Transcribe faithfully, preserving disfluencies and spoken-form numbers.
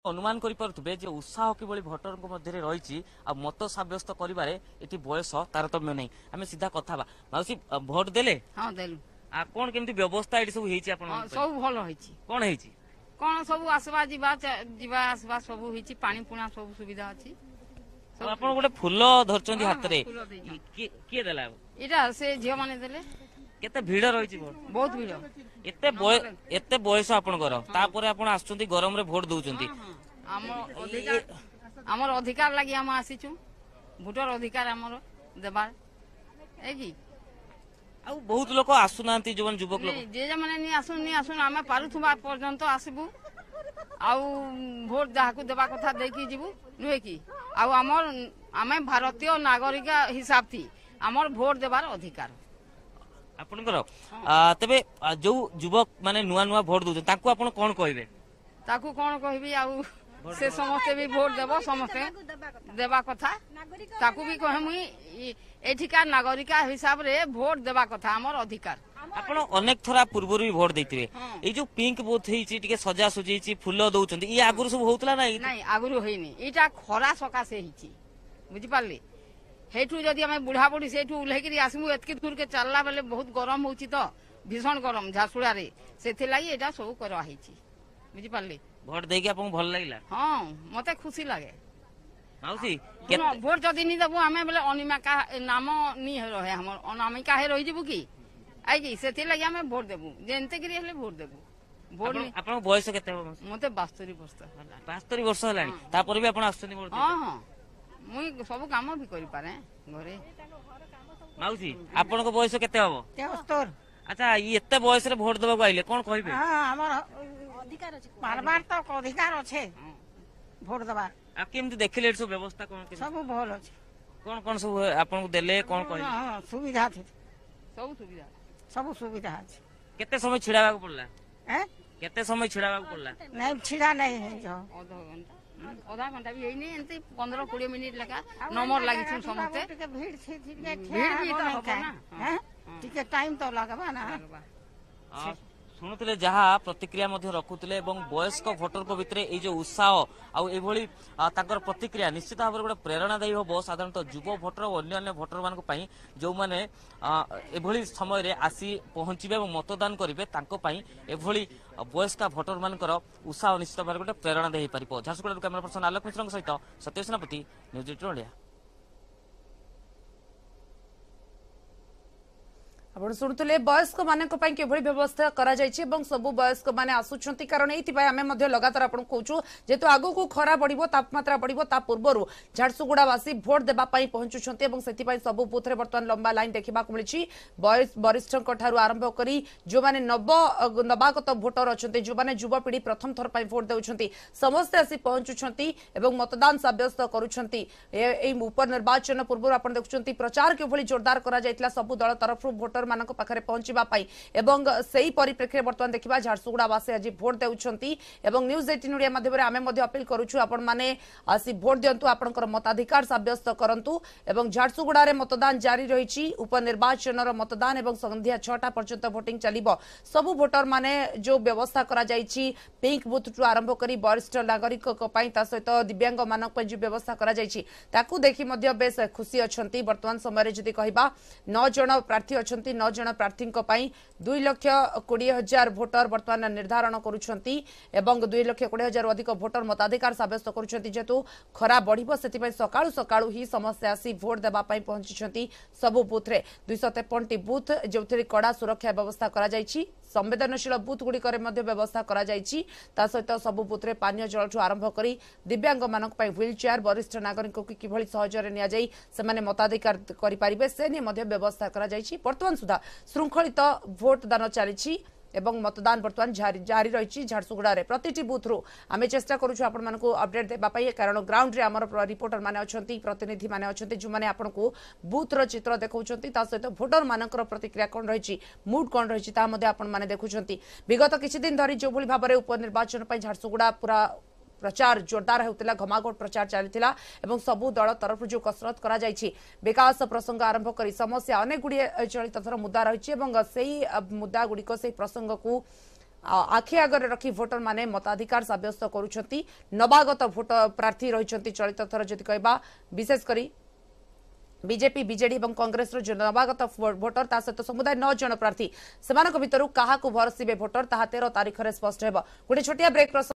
ଅନୁମାନ କରିପାରୁଥିବେ ଯେ ଉତ୍ସାହ କିଭଳି ଭୋଟରଙ୍କ ମଧ୍ୟରେ ରହିଛି ଆଉ ମତ ସାବ୍ୟସ୍ତ କରିବାରେ ଏଠି ବୟସ ତାରତମ୍ୟ ନାହିଁ। ଆମେ ସିଧା କଥା ହେବା। ମାଉସୀ, ଭୋଟ ଦେଲେ? ହଁ, ଦେଲୁ। ଆଉ କଣ କେମିତି ବ୍ୟବସ୍ଥା ଏଠି ସବୁ ହେଇଛି ଆପଣ? ସବୁ ଭଲ ହେଇଛି। କଣ ହେଇଛି? କଣ ସବୁ ଆସିବା ଯିବା ଯିବା ଆସିବା ସବୁ ହେଇଛି, ପାଣି ପୁଣା ସବୁ ସୁବିଧା ଅଛି। ଆପଣ ଗୋଟେ ଫୁଲ ଧରିଛନ୍ତି ହାତରେ, କିଏ ଦେଲା? ଏଇଟା ସେ ଝିଅ ମାନେ ଦେଲେ। କେତେ ଭିଡ ରହିଛି? ବହୁତ ଭିଡ। ଏତେ ଏତେ ବୟସ ଆପଣଙ୍କର, ତାପରେ ଆପଣ ଆସୁଛନ୍ତି ଗରମରେ ଭୋଟ ଦଉଛନ୍ତି? ଆମ ଅଧିକାର, ଆମର ଅଧିକାର ଲାଗି ଆମେ ଆସିଛୁ। ଭୋଟର ଅଧିକାର ଆମର ଦେବାର କି। ଆଉ ବହୁତ ଲୋକ ଆସୁନାହାନ୍ତି, ଯୋଉମାନେ ଯୁବକ ଲୋକ? ଯେ ମାନେ ନି ଆସୁନ ନି ଆସୁନ, ଆମେ ପାରୁଥିବା ପର୍ଯ୍ୟନ୍ତ ଆସିବୁ ଆଉ ଭୋଟ ଯାହାକୁ ଦେବା କଥା ଦେଇକି ଯିବୁ, ନୁହେଁ କି? ଆଉ ଆମର ଆମେ ଭାରତୀୟ ନାଗରିକ ହିସାବ ଥି ଆମର ଭୋଟ ଦେବାର ଅଧିକାର ଆପଣଙ୍କର। ତେବେ ଯୋଉ ଯୁବକ ମାନେ ନୂଆ ନୂଆ ଭୋଟ ଦଉଛନ୍ତି ତାଙ୍କୁ ଆପଣ କଣ କହିବେ? ତାକୁ କଣ କହିବି ଆଉ, ସେ ସମସ୍ତେ ବି ଭୋଟ ଦେବ, ସମସ୍ତେ ଦେବା କଥା। ତାକୁ ବି କହେ ମୁଇଁ, ଏଠିକା ନାଗରିକା ହିସାବରେ ଭୋଟ ଦେବା କଥା, ଆମର ଅଧିକାର। ଆପଣ ଅନେକ ଥର ପୂର୍ବରୁ ବି ଭୋଟ ଦେଇଥିବେ। ଏଇ ଯୋଉ ପିଙ୍କ ବୁଥ ହେଇଛି, ଟିକେ ସଜାସଜି ହେଇଛି, ଫୁଲ ଦଉଛନ୍ତି, ଇଏ ଆଗରୁ ସବୁ ହଉଥିଲା ନା? ନାଇଁ, ଆଗରୁ ହେଇନି। ଏଇଟା ଖରା ସକାଶେ ହେଇଛି, ବୁଝିପାରିଲେ? ସେଇଠୁ ଯଦି ଆମେ ବୁଢା ବୁଢୀ ସେଇଠୁ ଓହ୍ଲେଇକିରି ଆସିବୁ, ଏତିକି ଦୂରକେ ଚାଲିଲା ବେଲେ ବହୁତ ଗରମ ହଉଛି ତ, ଭୀଷଣ ଗରମ ଝାରସୁଗୁଡ଼ାରେ, ସେଥିଲାଗି ଏଇଟା ସବୁ କରାହେଇଛି, ବୁଝିପାରିଲେ? ଭୋଟ ଦେଇକି ଆପଣଙ୍କୁ ଭଲ ଲାଗିଲା? ହଁ, ମତେ ଖୁସି ଲାଗେ। ମାଉସୀ, ଭୋଟ ଯଦି ନି ଦେବୁ ଆମେ ବୋଲେ ଅନିମାକା ନାମ ନି ରହେ, ଆମର ଅନାମିକା ହେ ରହିଯିବୁ କି I, ସେଥିଲାଗି ଆମେ ଭୋଟ ଦେବୁ, ଯେନ୍ତିକିରି ହେଲେ ଭୋଟ ଦେବୁ। ଭୋଟ। ଆପଣଙ୍କ ବୟସ କେତେ ହବ? ମତେ ବାସ୍ତରୀ ବର୍ଷ ହେଲା। ବାସ୍ତରୀ ବର୍ଷ ହେଲାଣି, ତାପରେ ବି ଆପଣ ଆସୁଛନ୍ତି? ହଁ ହଁ, ମୁଇଁ ସବୁ କାମ ବି କରିପାରେ ଘରେ। ମାଉସୀ, ଆପଣଙ୍କ ବୟସ କେତେ ହବ? ଆଚ୍ଛା, ଏତେ ବୟସରେ ଭୋଟ ଦେବାକୁ ଆଇଲେ, କଣ କହିବେ? ଆମର ପାରବାର ତ ଅଧିକାର ଅଛି ଭୋଟ ଦେବାର। ଆଉ କେମିତି ଦେଖିଲେ ଏଠି ସବୁ ବ୍ୟବସ୍ଥା କଣ? ସବୁ ଭଲ ଅଛି। କଣ କଣ ସବୁ ଆପଣଙ୍କୁ ଦେଲେ, କଣ କହିଲେ? ସୁବିଧା ଅଛି, ସବୁ ସୁବିଧା, ସବୁ ସୁବିଧା ଅଛି। କେତେ ସମୟ ଛିଡା ହେବାକୁ ପଡିଲା? କେତେ ସମୟ ଛିଡା ହେବାକୁ ପଡିଲା? ନାଇଁ, ଛିଡା ନାଇଁ, ଅଧ ଘଣ୍ଟା, ଅଧା ଘଣ୍ଟା ବି ହେଇନି, ଏମିତି ପନ୍ଦର କୋଡିଏ ମିନିଟ ଲେଖା ନମ୍ବର ଲାଗିଛୁ ସମସ୍ତେ। ଟିକେ ଭିଡ ଭିଡ ବି ତ ହବ ନା, ଟିକେ ଟାଇମ ତ ଲାଗବା ନା। ଶୁଣୁଥିଲେ ଯାହା ପ୍ରତିକ୍ରିୟା ମଧ୍ୟ ରଖୁଥିଲେ, ଏବଂ ବୟସ୍କ ଭୋଟରଙ୍କ ଭିତରେ ଏଇ ଯୋଉ ଉତ୍ସାହ ଆଉ ଏଭଳି ତାଙ୍କର ପ୍ରତିକ୍ରିୟା ନିଶ୍ଚିତ ଭାବରେ ଗୋଟେ ପ୍ରେରଣାଦାୟୀ ହେବ ସାଧାରଣତଃ ଯୁବ ଭୋଟର ଓ ଅନ୍ୟାନ୍ୟ ଭୋଟରମାନଙ୍କ ପାଇଁ, ଯେଉଁମାନେ ଏଭଳି ସମୟରେ ଆସି ପହଞ୍ଚିବେ ଏବଂ ମତଦାନ କରିବେ। ତାଙ୍କ ପାଇଁ ଏଭଳି ବୟସ୍କ ଭୋଟରମାନଙ୍କର ଉତ୍ସାହ ନିଶ୍ଚିତ ଭାବରେ ଗୋଟେ ପ୍ରେରଣାଦାୟୀ ହେଇପାରିବ। ଝାରସୁଗୁଡ଼ାରୁ କ୍ୟାମେରା ପର୍ସନ ଆଲୋକ ମିଶ୍ରଙ୍କ ସହିତ ସତ୍ୟ ସେନାପତି, ନ୍ୟୁଜ୍ ଏଇଟିନ୍ ଓଡ଼ିଆ। ଆପଣ ଶୁଣୁଥିଲେ ବୟସ୍କମାନଙ୍କ ପାଇଁ କିଭଳି ବ୍ୟବସ୍ଥା କରାଯାଇଛି ଏବଂ ସବୁ ବୟସ୍କମାନେ ଆସୁଛନ୍ତି, କାରଣ ଏଇଥିପାଇଁ ଆମେ ମଧ୍ୟ ଲଗାତାର ଆପଣଙ୍କୁ କହୁଛୁ, ଯେହେତୁ ଆଗକୁ ଖରା ବଢିବ, ତାପମାତ୍ରା ବଢିବ, ତା ପୂର୍ବରୁ ଝାରସୁଗୁଡ଼ାବାସୀ ଭୋଟ ଦେବା ପାଇଁ ପହଞ୍ଚୁଛନ୍ତି ଏବଂ ସେଥିପାଇଁ ସବୁ ବୁଥରେ ବର୍ତ୍ତମାନ ଲମ୍ବା ଲାଇନ୍ ଦେଖିବାକୁ ମିଳିଛି। ବୟସ ବରିଷ୍ଠଙ୍କ ଠାରୁ ଆରମ୍ଭ କରି ଯେଉଁମାନେ ନବ ନବାଗତ ଭୋଟର ଅଛନ୍ତି, ଯେଉଁମାନେ ଯୁବପିଢ଼ି ପ୍ରଥମ ଥର ପାଇଁ ଭୋଟ ଦେଉଛନ୍ତି, ସମସ୍ତେ ଆସି ପହଞ୍ଚୁଛନ୍ତି ଏବଂ ମତଦାନ ସାବ୍ୟସ୍ତ କରୁଛନ୍ତି। ଏଇ ଉପନିର୍ବାଚନ ପୂର୍ବରୁ ଆପଣ ଦେଖୁଛନ୍ତି ପ୍ରଚାର କିଭଳି ଜୋରଦାର କରାଯାଇଥିଲା ସବୁ ଦଳ ତରଫରୁ ଭୋଟର ମାନଙ୍କ ପାଖରେ ପହଞ୍ଚିବା ପାଇଁ, ଏବଂ ସେଇ ପରିପ୍ରେକ୍ଷୀରେ ବର୍ତ୍ତମାନ ଦେଖିବା ଝାରସୁଗୁଡ଼ାବାସୀ ଆଜି ଭୋଟ ଦେଉଛନ୍ତି। ଏବଂ ନ୍ୟୁଜ୍ ଏଇଟିନ୍ ଓଡ଼ିଆ ମାଧ୍ୟମରେ ଆମେ ମଧ୍ୟ ଅପିଲ କରୁଛୁ, ଆପଣମାନେ ଆସି ଭୋଟ ଦିଅନ୍ତୁ, ଆପଣଙ୍କର ମତାଧିକାର ସାବ୍ୟସ୍ତ କରନ୍ତୁ। ଏବଂ ଝାରସୁଗୁଡ଼ାରେ ମତଦାନ ଜାରି ରହିଛି, ଉପନିର୍ବାଚନର ମତଦାନ, ଏବଂ ସନ୍ଧ୍ୟା ଛଅଟା ପର୍ଯ୍ୟନ୍ତ ଭୋଟିଂ ଚାଲିବ। ସବୁ ଭୋଟର ମାନେ ଯେଉଁ ବ୍ୟବସ୍ଥା କରାଯାଇଛି, ପିଙ୍କ ବୁଥଠୁ ଆରମ୍ଭ କରି ବରିଷ୍ଠ ନାଗରିକଙ୍କ ପାଇଁ, ତା ସହିତ ଦିବ୍ୟାଙ୍ଗମାନଙ୍କ ପାଇଁ ଯେଉଁ ବ୍ୟବସ୍ଥା କରାଯାଇଛି, ତାକୁ ଦେଖି ମଧ୍ୟ ବେଶ ଖୁସି ଅଛନ୍ତି। ବର୍ତ୍ତମାନ ସମୟରେ ଯଦି କହିବା, ନଅ ଜଣ ପ୍ରାର୍ଥୀ ଅଛନ୍ତି, ନଅ ଜଣ ପ୍ରାର୍ଥୀଙ୍କ ପାଇଁ ଦୁଇ ଲକ୍ଷ କୋଡ଼ିଏ ହଜାର ଭୋଟର ବର୍ତ୍ତମାନ ନିର୍ଦ୍ଧାରଣ କରୁଛନ୍ତି ଏବଂ ଦୁଇ ଲକ୍ଷ କୋଡ଼ିଏ ହଜାରରୁ ଅଧିକ ଭୋଟର ମତାଧିକାର ସାବ୍ୟସ୍ତ କରୁଛନ୍ତି। ଯେହେତୁ ଖରା ବଢିବ, ସେଥିପାଇଁ ସକାଳୁ ସକାଳୁ ହିଁ ସମସ୍ତେ ଆସି ଭୋଟ ଦେବା ପାଇଁ ପହଞ୍ଚିଛନ୍ତି ସବୁ ବୁଥରେ। ଦୁଇଶହ ତେପନଟି ବୁଥ, ଯେଉଁଥିରେ କଡ଼ା ସୁରକ୍ଷା ବ୍ୟବସ୍ଥା କରାଯାଇଛି, ସମ୍ବେଦନଶୀଳ ବୁଥ ଗୁଡ଼ିକରେ ମଧ୍ୟ ବ୍ୟବସ୍ଥା କରାଯାଇଛି। ତା ସହିତ ସବୁ ବୁଥରେ ପାନୀୟ ଜଳଠୁ ଆରମ୍ଭ କରି ଦିବ୍ୟାଙ୍ଗମାନଙ୍କ ପାଇଁ ହ୍ୱିଲ୍ ଚେୟାର, ବରିଷ୍ଠ ନାଗରିକଙ୍କୁ କିଭଳି ସହଜରେ ନିଆଯାଇ ସେମାନେ ମତାଧିକାର କରିପାରିବେ ସେ ନେଇ ମଧ୍ୟ ବ୍ୟବସ୍ଥା କରାଯାଇଛି। ବର୍ତ୍ତମାନ ସୁଦ୍ଧା ଶୃଙ୍ଖଳିତ ଭୋଟ ଦାନ ଚାଲିଛି ଏବଂ ମତଦାନ ବର୍ତ୍ତମାନ ଜାରି ରହିଛି ଝାରସୁଗୁଡ଼ାରେ। ପ୍ରତିଟି ବୁଥରୁ ଆମେ ଚେଷ୍ଟା କରୁଛୁ ଆପଣମାନଙ୍କୁ ଅପଡେଟ୍ ଦେବା ପାଇଁ, କାରଣ ଗ୍ରାଉଣ୍ଡରେ ଆମର ରିପୋର୍ଟର ମାନେ ଅଛନ୍ତି, ପ୍ରତିନିଧି ମାନେ ଅଛନ୍ତି, ଯେଉଁମାନେ ଆପଣଙ୍କୁ ବୁଥର ଚିତ୍ର ଦେଖାଉଛନ୍ତି। ତା ସହିତ ଭୋଟର ମାନଙ୍କର ପ୍ରତିକ୍ରିୟା କ'ଣ ରହିଛି, ମୁଡ୍ କ'ଣ ରହିଛି, ତାହା ମଧ୍ୟ ଆପଣମାନେ ଦେଖୁଛନ୍ତି। ବିଗତ କିଛି ଦିନ ଧରି ଯେଉଁଭଳି ଭାବରେ ଉପନିର୍ବାଚନ ପାଇଁ ଝାରସୁଗୁଡ଼ା ପୁରା ପ୍ରଚାର ଜୋରଦାର ହେଉଥିଲା, ଘମାଘୋଟ ପ୍ରଚାର ଚାଲିଥିଲା ଏବଂ ସବୁ ଦଳ ତରଫରୁ ଯେଉଁ କସରତ କରାଯାଇଛି, ବିକାଶ ପ୍ରସଙ୍ଗ ଆରମ୍ଭ କରି ସମସ୍ୟା ଅନେକ ଗୁଡ଼ିଏ ଚଳିତ ଥର ମୁଦ୍ଦା ରହିଛି ଏବଂ ସେଇ ମୁଦ୍ଦା ଗୁଡ଼ିକ, ସେଇ ପ୍ରସଙ୍ଗକୁ ଆଖି ଆଗରେ ରଖି ଭୋଟର ମାନେ ମତାଧିକାର ସାବ୍ୟସ୍ତ କରୁଛନ୍ତି। ନବାଗତ ଭୋଟ ପ୍ରାର୍ଥୀ ରହିଛନ୍ତି ଚଳିତ ଥର ଯଦି କହିବା, ବିଶେଷ କରି ବିଜେପି, ବିଜେଡି ଏବଂ କଂଗ୍ରେସର ଯେଉଁ ନବାଗତ ଭୋଟର, ତା ସହିତ ସମୁଦାୟ ନଅ ଜଣ ପ୍ରାର୍ଥୀ, ସେମାନଙ୍କ ଭିତରୁ କାହାକୁ ଭରସିବେ ଭୋଟର ତାହା ତେର ତାରିଖରେ ସ୍ପଷ୍ଟ ହେବ। ଗୋଟେ ଛୋଟିଆ ବ୍ରେକ୍।